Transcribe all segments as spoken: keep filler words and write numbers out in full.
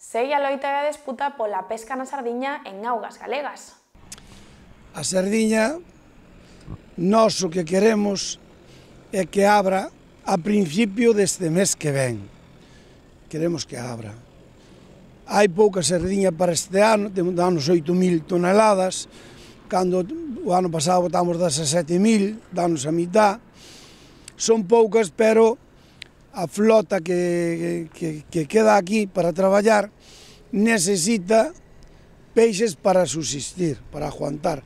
Segue a loita e a disputa pola pesca na sardiña en augas galegas. A sardiña, nós o que queremos é que abra a principio deste mes que ven. Queremos que abra. Hai pouca sardiña para este ano, danos oito mil toneladas, cando o ano pasado botamos dezasete mil, danos a mitad. Son poucas, pero a flota que, que, que queda aquí para traballar necesita peixes para subsistir, para aguantar.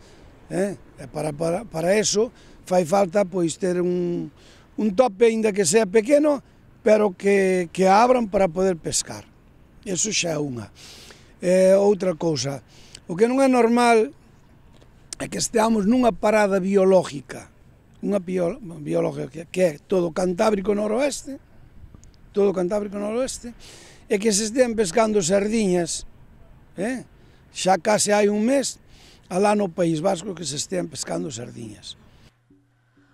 Eh? Para, para, para eso fai falta pois ter un, un tope, ainda que sea pequeno, pero que, que abran para poder pescar. Eso xa é unha. Eh, outra cousa, o que non é normal é que esteamos nunha parada biológica, unha bio, biológica que é todo o Cantábrico noroeste, todo o Cantábrico noroeste, e que se estean pescando sardiñas, eh? xa case hai un mes, alá no País Vasco que se estean pescando sardiñas.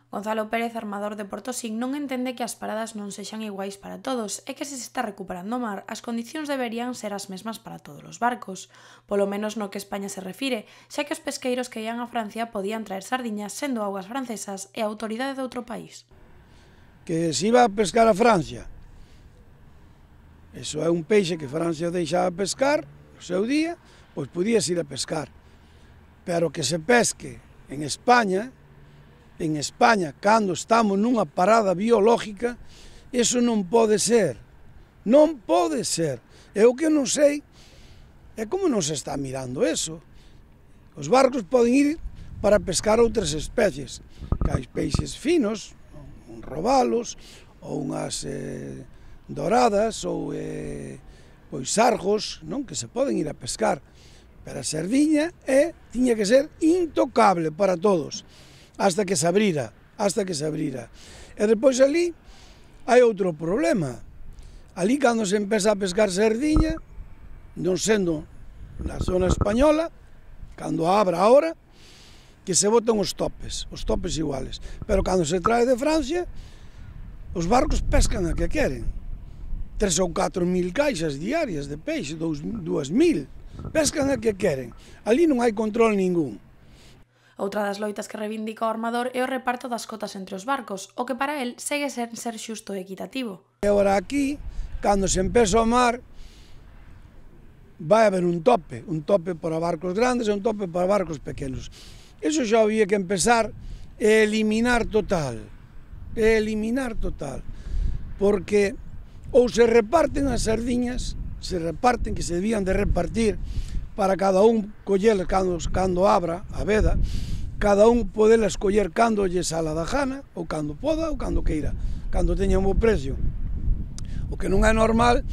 Gonzalo Pérez, armador de Portosín, non entende que as paradas non sexan iguais para todos e que se se está recuperando o mar, as condicións deberían ser as mesmas para todos os barcos, polo menos no que España se refire, xa que os pesqueiros que ian a Francia podían traer sardiñas sendo augas francesas e a autoridade de outro país. Que se iba a pescar a Francia, eso é un peixe que Francia deixaba pescar no seu día, pois podías ir a pescar, pero que se pesque en España, en España, cando estamos nunha parada biológica, eso non pode ser, non pode ser. E o que non sei é como non se está mirando eso. Os barcos poden ir para pescar outras especies, que hai peixes finos, un robalos, ou unhas eh, doradas, ou eh, pois sargos, non? Que se poden ir a pescar. Pero a sardiña é, tiña que ser intocable para todos, hasta que se abrira, hasta que se abrira. E depois ali hai outro problema. Ali cando se empeza a pescar sardiña, non sendo na zona española, cando abra ahora, que se botan os topes, os topes iguales. Pero cando se trae de Francia, os barcos pescan a que queren. Tres ou catro mil caixas diarias de peixe, dúas mil. Pescan a que queren. Ali non hai control ningún. Outra das loitas que reivindica o armador é o reparto das cotas entre os barcos, o que para el segue sen ser xusto e equitativo. E agora aquí, cando se empeza o mar, vai haber un tope, un tope para barcos grandes e un tope para barcos pequenos. Iso xa había que empezar a eliminar total, a eliminar total, porque ou se reparten as sardiñas, se reparten, que se debían de repartir, para cada un coller cando, cando abra a veda, cada un podelas coller cando lle sala da gana, ou cando poda, ou cando queira, cando teña un bo precio. O que non é normal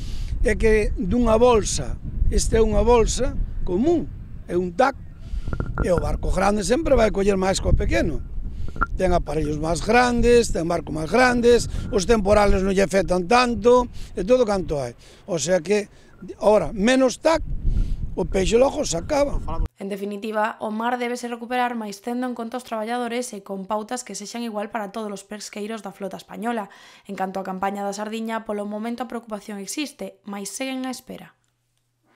é que dunha bolsa, esta é unha bolsa común, é un tac, e o barco grande sempre vai coller máis co pequeno. Ten aparellos máis grandes, ten barcos máis grandes, os temporales non lle afectan tanto, e todo canto hai. O sea que, ora, menos tac, o peixe logo se acaba. En definitiva, o mar debese recuperar máis tendo en conta os traballadores e con pautas que sexan igual para todos os pesqueiros da flota española. En canto á campaña da sardiña, polo momento a preocupación existe, mais seguen á espera.